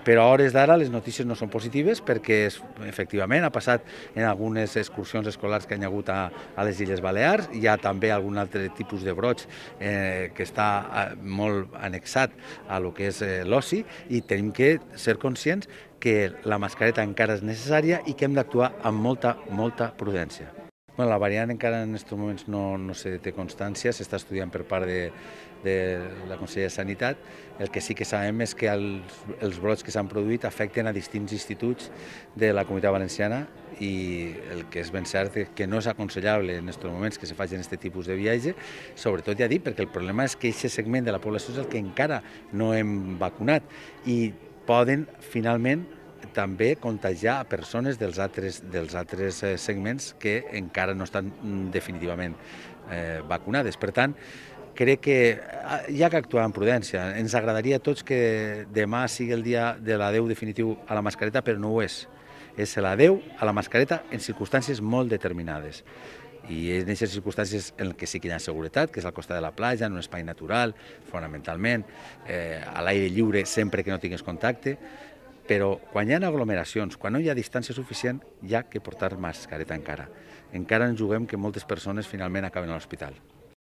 Però a hores d'ara les notícies no són positives perquè efectivament ha passat en algunes excursions escolars que hi ha hagut a les Illes Balears. Hi ha també algun altre tipus de broig que està molt annexat a lo que és l'oci i tenim que ser conscients que la mascareta encara és necessària i que hem d'actuar amb molta prudència. La variant encara en aquests moments no se té constància, s'està estudiant per part de la Conselleria de Sanitat. El que sí que sabem és que els brots que s'han produït afecten a distints instituts de la Comunitat Valenciana i el que és ben cert és que no és aconsellable en aquests moments que se facin aquest tipus de viatge, sobretot ja dic, perquè el problema és que aquest segment de la població és el que encara no hem vacunat i poden finalment també contagiar a persones dels altres segments que encara no estan definitivament vacunades. Per tant, crec que hi ha que actuar amb prudència. Ens agradaria a tots que demà sigui el dia de l'adeu definitiu a la mascareta, però no ho és. És l'adeu a la mascareta en circumstàncies molt determinades. I en aquestes circumstàncies en què sí que hi ha seguretat, que és al costat de la platja, en un espai natural, fonamentalment, a l'aire lliure sempre que no tinguis contacte, però quan hi ha aglomeracions, quan no hi ha distància suficient, hi ha que portar mascareta encara. Encara ens juguem que moltes persones finalment acaben a l'hospital.